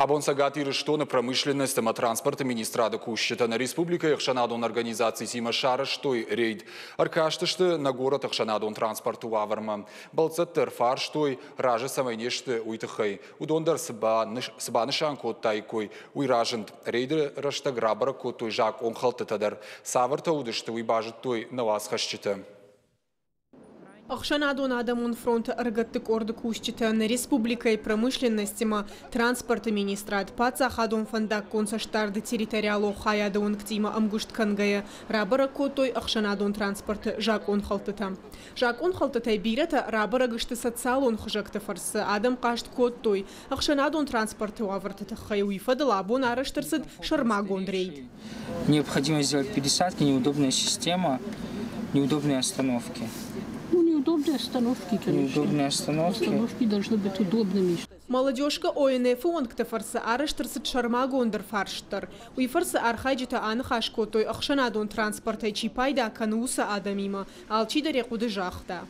Абон Цӕгат Ирыстоны промышленность ӕмӕ транспорты министрады кусджытӕ нӕ республикӕйы ӕхсӕнадон организацитимӕ сарӕзтой рейд. Ӕркастысты нӕ горӕты ӕхсӕнадон транспорты уавӕрмӕ. Бӕлццӕтты ӕрфарстой, разы цӕмӕй не сты, уый тыххӕй. Уыдон дӕр цы банысан кодтаиккой, уый разынд. Рейды рӕстӕг рабӕрӕг кодтой закъонхӕлдтытӕ дӕр. Цавӕртӕ уыдысты, уый базыдтой нӕ уацхӕсджытӕ. Ӕхсӕнадон адӕмон фронты ӕрыгӕтты къорды кусджытӕ нӕ республикӕйы промышленностимӕ транспорты министрад, паддзахадон фӕндаггон цӕстдарды территориалон хайады уӕнгтимӕ ӕмгуыст кӕнгӕйӕ рабӕрӕг кодтой ӕхсӕнадон транспорты закъонхӕлдтытӕ. Закъонхӕлдтытӕй бирӕтӕ рабӕрӕг сты социалон хызӕгты фӕрцы, адӕм хъаст кодтой ӕхсӕнадон транспорты уавӕрты тыххӕй, уый фӕдыл абон арӕзт ӕрцыд сӕрмагонд рейд. Необходимо сделать пересадки, неудобная система, неудобные остановки. Ну, неудобные остановки, конечно. Неудобные остановки. Остановки должны быть удобными. Молодежка ОНФ-ы уӕнгты фӕрцы арӕзт ӕрцыд сӕрмагонд ӕрфарст дӕр. Уый фӕрцы архайджытӕ аныхас кодтой, ӕхсӕнадон транспортӕй чи пайда кӕны, уыцы адӕмимӕ. Алчидӕр йӕ хъуыды загъта.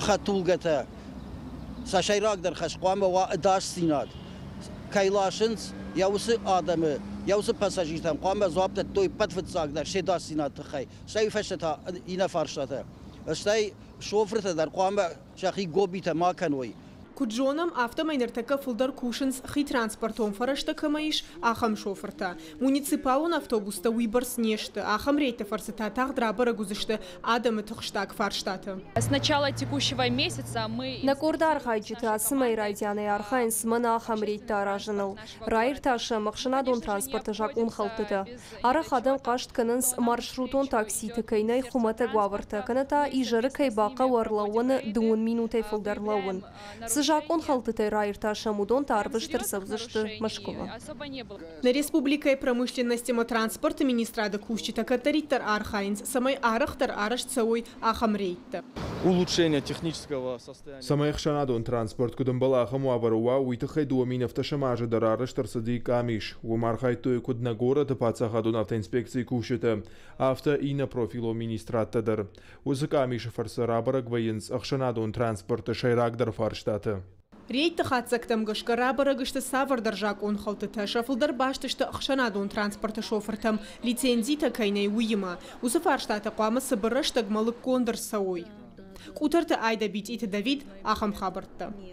Хӕдтулгӕтӕ сӕ сӕйрагдӕр хӕс хъуамӕ уа ӕдасдзинад. Кӕй ласынц, йӕ уыцы адӕмы, йӕ уыцы пассажиртӕн хъуамӕ дзуапп дӕттой ӕппӕт фыццагдӕр се дасдзинады тыххӕй, стӕй фӕстӕ та иннӕ фарстатӕ. Стӕй шофыртӕ дӕр хъуамӕ сӕхи гобитӕ ма кӕной. Куыд зонӕм, афтӕмӕй ныртӕккӕ фылдӕр кусынц, хи транспортон фӕрӕзтӕ кӕмӕ ис, ахӕм шофыртӕ. Муниципалон автобустӕ уыйбӕрц не сты, ахӕм рейдты фӕрцы та тагъд рабӕрӕг уыдзысты адӕмы тыхстаг фарстатӕ. С начала текущего месяца мы Нӕ къорды архайджытӕ ацы мӕйы райдианӕй архайынц мӕнӕ ахӕм рейдтӕ аразыныл. Раиртасӕм ӕхсӕнадон транспорты закъонхӕлдтытӕ. Арӕх адӕм хъаст кӕнынц, маршрутон такситы кӕй нӕй хуымӕтӕг уавӕртӕ, кӕнӕ та изӕры кӕй бахъӕуы ӕрлӕууӕны дыууын минутӕй фылдӕр лӕууын. Цы закъонхӕлдтытӕй раиртасӕм, уыдон та ӕрвыст ӕрцӕудзысты Мӕскуымӕ. Нӕ республикӕйы промышленность ӕмӕ транспорты министрады кусджытӕ кӕддӕриддӕр архайынц, цӕмӕй арӕхдӕр арӕзт цӕуой ахӕм рейдтӕ. Улучшение технического состояния. Цӕмӕй ӕхсӕнадон транспорт куыд ӕмбӕлы, ахӕм уавӕры уа, уый тыххӕй 2017 азы дӕр арӕзт ӕрцыди къамис. Уым архайдтой куыд нӕ горӕты паддзахадон автоинспекцийы кусджытӕ, афтӕ иннӕ профилон министрадтӕ дӕр. Уыцы къамисы фӕрцы рабӕрӕг вӕййынц ӕхсӕнадон транспорты сӕйрагдӕр фарстатӕ. Рейдты хатдзӕгтӕм гӕсгӕ рабӕрӕг сты цавӕрдӕр закъонхӕлдтытӕ, сӕ фылдӕр баст сты ӕхсӕнадон транспорты шофыртӕм лицензитӕ кӕй нӕй, уыимӕ. Уыцы фарстатӕ хъуамӕ цыбыр рӕстӕгмӕ лыггонд ӕрцӕуой. Къутӕрты Айдӕ, Битъиты Давид, ахӕм хабӕрттӕ.